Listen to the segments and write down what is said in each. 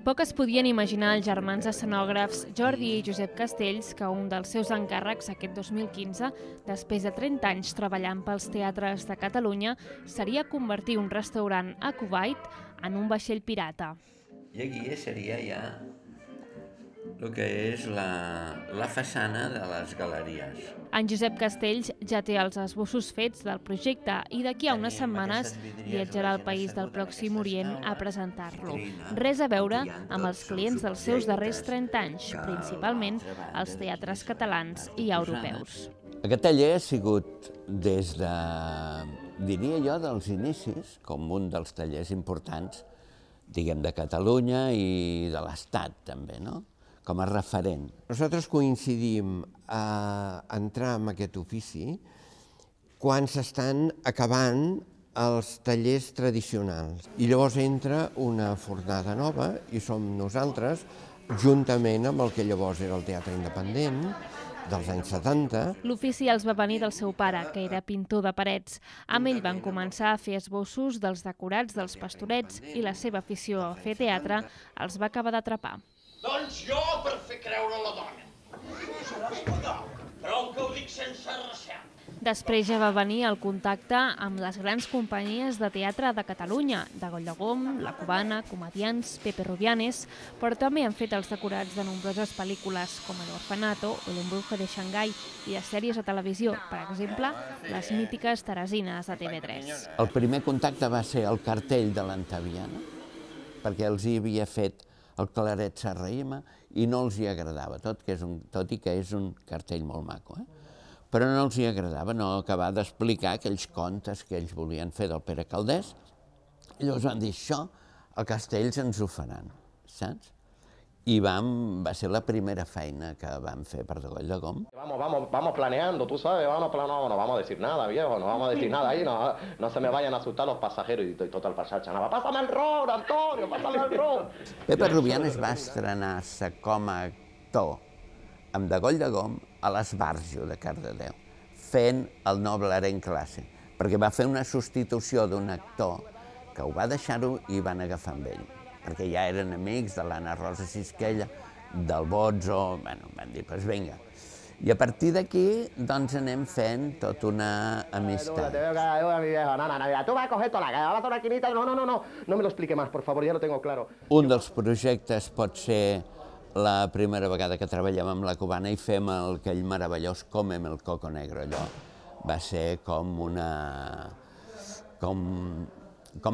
Poc es podien imaginar els germans escenògrafs Jordi i Josep Castells que un dels seus encàrrecs aquest 2015, després de 30 anys treballant pels teatres de Catalunya, seria convertir un restaurant a Kuwait en un vaixell pirata. I aquí seria ja el que és la façana de les galeries. En Josep Castells ja té els esbossos fets del projecte i d'aquí a unes setmanes viatjarà al país del Pròxim Orient a presentar-lo. Res a veure amb els clients dels seus darrers 30 anys, principalment els teatres catalans i europeus. Aquest taller ha sigut des de, diria jo, dels inicis, com un dels tallers importants, diguem, de Catalunya i de l'Estat també, no? Com a referent. Nosaltres coincidim a entrar en aquest ofici quan s'estan acabant els tallers tradicionals. I llavors entra una fornada nova i som nosaltres, juntament amb el que llavors era el Teatre Independent, dels anys 70. L'ofici els va venir del seu pare, que era pintor de parets. Amb ell van començar a fer esbossos dels decorats dels Pastorets i la seva afició a fer teatre els va acabar d'atrapar. Doncs jo per fer creure la dona. Prou que ho dic sense recel. Després ja va venir el contacte amb les grans companyies de teatre de Catalunya, de Goll de Gom, La Cubana, Comediants, Pepe Rubianes, però també han fet els decorats de nombroses pel·lícules com El Orfanato o L'Embrujo de Xangai i de sèries de televisió, per exemple, les mítiques Teresines de TV3. El primer contacte va ser el cartell de l'Antaviana, perquè els hi havia fet el Claret Serrahima i no els hi agradava, tot i que és un cartell molt maco. Però no els hi agradava no acabar d'explicar aquells contes que ells volien fer del Pere Calders. I llavors van dir, això a Castells ens ho faran, saps? I va ser la primera feina que vam fer per Goll de Gom. Vamos planeando, tú sabes, vamos planeando, no vamos a decir nada, viejo, no vamos a decir nada ahí, no se me vayan a asustar los pasajeros y total pasar chanava. Pásame el ron, Antonio, pásame el ron. Pepe Rubianes va estrenar-se com a actor amb de Goll de Gom a l'Esbarjo de Cardedeu, fent el Noble en classe, perquè va fer una substitució d'un actor que ho va deixar-ho i van agafar amb ell, perquè ja eren amics de l'Anna Rosa Sisquella, del Bozzo, bueno, van dir, doncs vinga. I a partir d'aquí, doncs, anem fent tota una amistat. Tu vas a coger toda la maquinita, no me lo explique más, por favor, ya lo tengo claro. Un dels projectes pot ser la primera vegada que treballem amb La Cubana i fem aquell meravellós Comem el Coco Negro, allò. Va ser com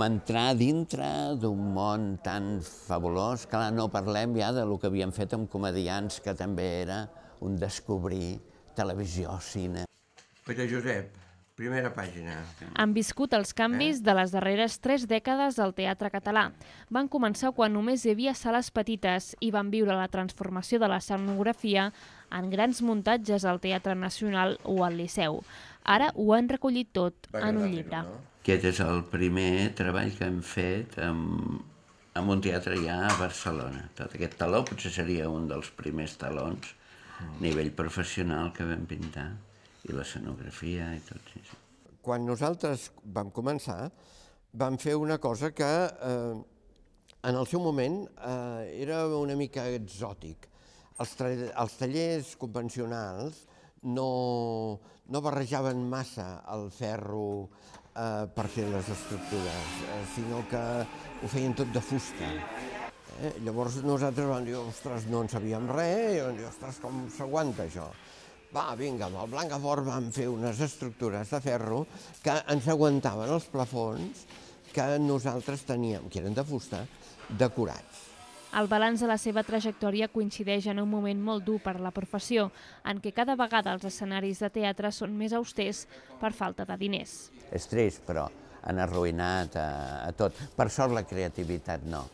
entrar dintre d'un món tan fabulós, que no parlem ja del que havíem fet amb Comediants, que també era un descobrir televisió, cine. Pere Josep, primera pàgina. Han viscut els canvis de les darreres 3 dècades al teatre català. Van començar quan només hi havia sales petites i van viure la transformació de l'escenografia en grans muntatges al Teatre Nacional o al Liceu. Ara ho han recollit tot en un llibre. Aquest és el primer treball que hem fet en un teatre ja a Barcelona. Tot aquest taló potser seria un dels primers talons a nivell professional que vam pintar, i l'escenografia i tot. Quan nosaltres vam començar, vam fer una cosa que en el seu moment era una mica exòtic. Els tallers convencionals no barrejaven massa el ferro per fer les estructures, sinó que ho feien tot de fusta. Llavors nosaltres vam dir, ostres, no en sabíem res, i vam dir, ostres, com s'aguanta això? Va, vinga, amb el Blancafort vam fer unes estructures de ferro que ens aguantaven els plafons que nosaltres teníem, que eren de fusta, decorats. El balanç de la seva trajectòria coincideix en un moment molt dur per a la professió, en què cada vegada els escenaris de teatre són més austers per falta de diners. És trist, però han arruïnat a tot. Per sort la creativitat no.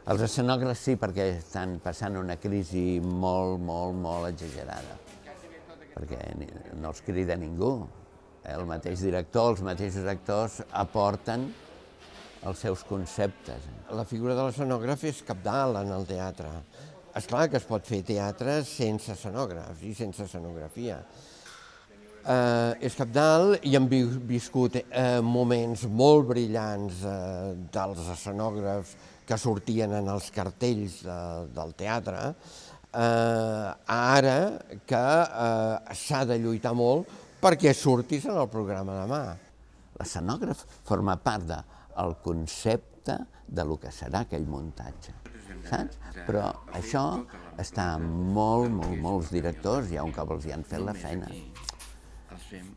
Els escenògrafs sí, perquè estan passant una crisi molt exagerada, perquè no els crida ningú. El mateix director, els mateixos actors aporten els seus conceptes. La figura de l'escenògraf és cabdal en el teatre. És clar que es pot fer teatre sense escenògrafs i sense escenografia. és cabdal i hem viscut moments molt brillants dels escenògrafs que sortien en els cartells del teatre, ara que s'ha de lluitar molt perquè surtis en el programa demà. L'escenògraf forma part del concepte de lo que serà aquell muntatge, saps? Però això està en molts directors, ja un cop els hi han fet la feina.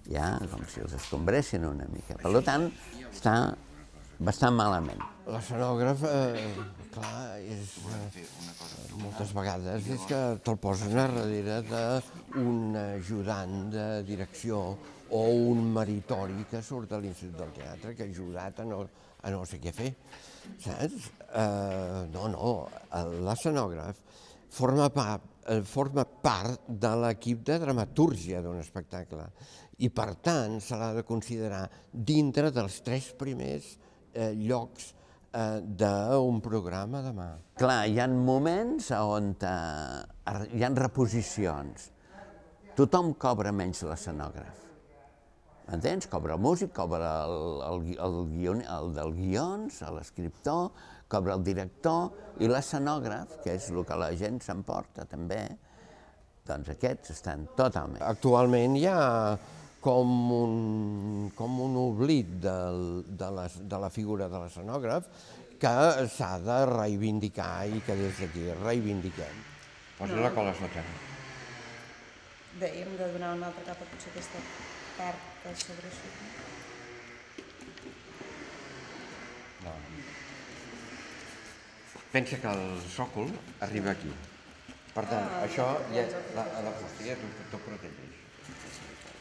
Ja, com si els escombressin una mica. Per tant, està bastant malament. L'escenògraf, clar, moltes vegades és que te'l posen a darrere d'un ajudant de direcció o un meritori que surt de l'Institut del Teatre que ha ajudat a no sé què fer, saps? No, l'escenògraf forma part de l'equip de dramatúrgia d'un espectacle i, per tant, se l'ha de considerar dintre dels 3 primers llocs d'un programa demà. Clar, hi ha moments on hi ha reposicions. Tothom cobra menys l'escenògraf. M'entens? Cobra el músic, cobra el del guions, l'escriptor, cobra el director i l'escenògraf, que és el que la gent s'emporta també, doncs aquests estan totalment. Actualment hi ha com un oblit de la figura de l'escenògraf que s'ha de reivindicar i que des d'aquí reivindiquem. Posa la cola sota. Dèiem de donar una altra capa, potser aquesta part que sobresurt. No. Pensa que el sòcol arriba aquí. Per tant, això ja la fusta ja t'ho protegeix.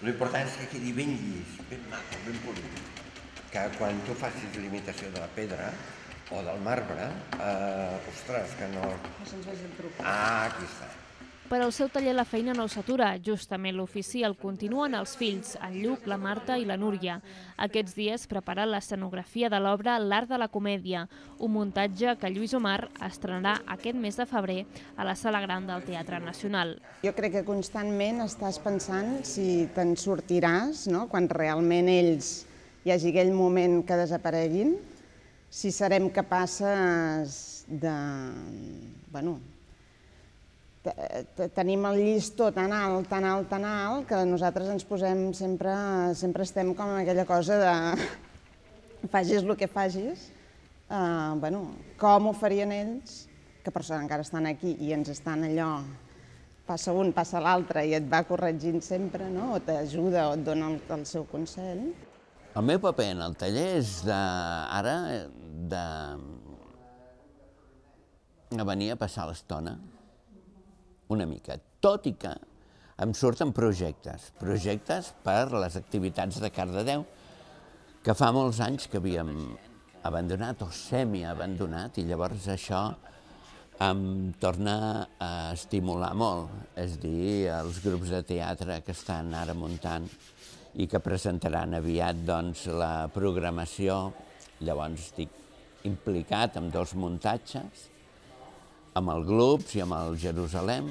L'important és que quedi ben llis, ben maco, ben polit. Que quan tu facis l'imitació de la pedra o del marbre, ostres, que no... No se'ns vegi el truc. Ah, aquí està. Per al seu taller la feina no s'atura. Justament l'ofici el continuen els fills, en Lluc, la Marta i la Núria. Aquests dies preparen l'escenografia de l'obra L'Art de la Comèdia, un muntatge que Lluís Omar estrenarà aquest mes de febrer a la Sala Gran del Teatre Nacional. Jo crec que constantment estàs pensant si te'n sortiràs, no? Quan realment ells hi hagi aquell moment que desapareguin, si serem capaces de... Bueno, tenim el llistó tan alt, que nosaltres ens posem sempre estem com en aquella cosa de facis el que facis, com ho farien ells, que per sort encara estan aquí i ens estan allò, passa un, passa l'altre i et va corregint sempre, o t'ajuda o et dona el seu consell. El meu paper en el taller és ara de venir a passar l'estona una mica, tot i que em surten projectes per les activitats de Cardedeu, que fa molts anys que havíem abandonat o semi-abandonat, i llavors això em torna a estimular molt, és a dir, els grups de teatre que estan ara muntant i que presentaran aviat la programació. Llavors estic implicat en 2 muntatges, amb el Globs i amb el Jerusalem.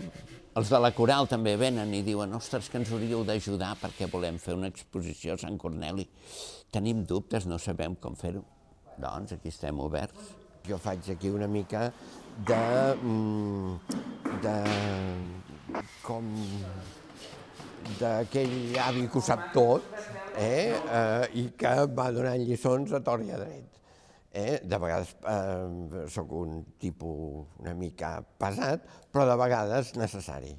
Els de la Coral també venen i diuen ostres, que ens hauríeu d'ajudar perquè volem fer una exposició a Sant Corneli. Tenim dubtes, no sabem com fer-ho. Doncs aquí estem oberts. Jo faig aquí una mica d'aquell avi que ho sap tot i que va donant lliçons a tort i a dret. De vegades sóc un tipus una mica pesat, però de vegades necessari.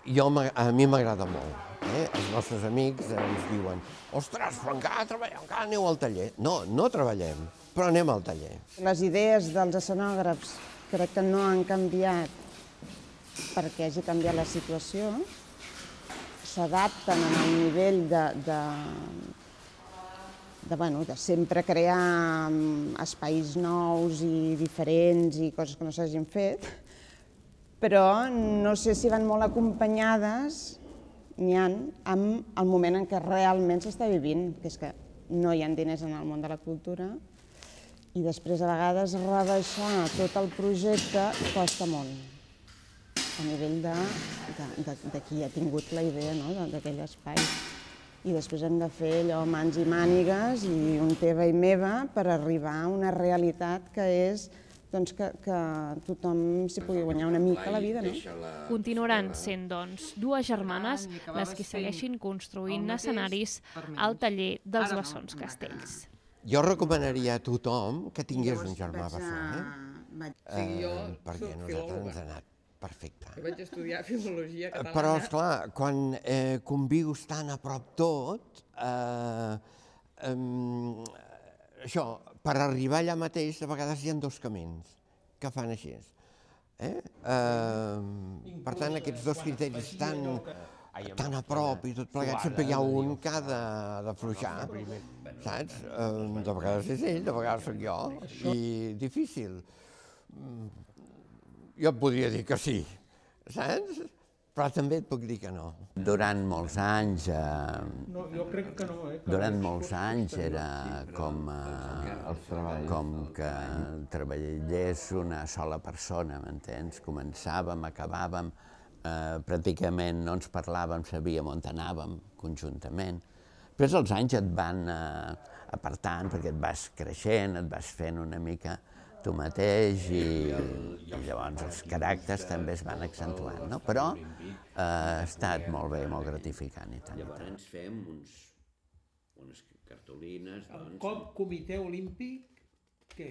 A mi m'agrada molt. Els nostres amics ens diuen ostres, però encara treballem, encara aneu al taller. No, no treballem, però anem al taller. Les idees dels escenògrafs crec que no han canviat perquè hagi canviat la situació. S'adapten al nivell de sempre crear espais nous i diferents i coses que no s'hagin fet, però no sé si van molt acompanyades amb el moment en què realment s'està vivint, que és que no hi ha diners en el món de la cultura i després a vegades rebaixar tot el projecte costa molt. a nivell de qui ha tingut la idea, no?, d'aquell espai. I després hem de fer allò mans i mànigues i un teva i meva per arribar a una realitat que és doncs, que tothom s'hi pugui guanyar una mica la vida, no? Continuaran sent, doncs, dues germanes les que segueixin construint escenaris al taller dels Bessons Castells. Jo recomanaria a tothom que tingués un germà bessó, perquè a nosaltres ens ha anat perfecte. Jo vaig estudiar filologia catalana. Però, esclar, quan convius tan a prop tot, això, per arribar allà mateix, de vegades hi ha dos camins que fan així. Per tant, aquests dos criteris tan a prop i tot plegat, sempre hi ha un que ha d'afluixar, saps? De vegades és ell, de vegades soc jo, i difícil. Jo et podria dir que sí, saps? Però també et puc dir que no. Durant molts anys... Jo crec que no, Durant molts anys era com que treballés una sola persona, m'entens? Començàvem, acabàvem, pràcticament no ens parlàvem, sabíem on anàvem conjuntament. Després els anys et van apartant perquè et vas creixent, et vas fent una mica tu mateix i llavors els caràcters també es van accentuant, no? Però ha estat molt bé, molt gratificant i tant. Llavors fem unes cartolines, doncs... El Comitè Olímpic, què?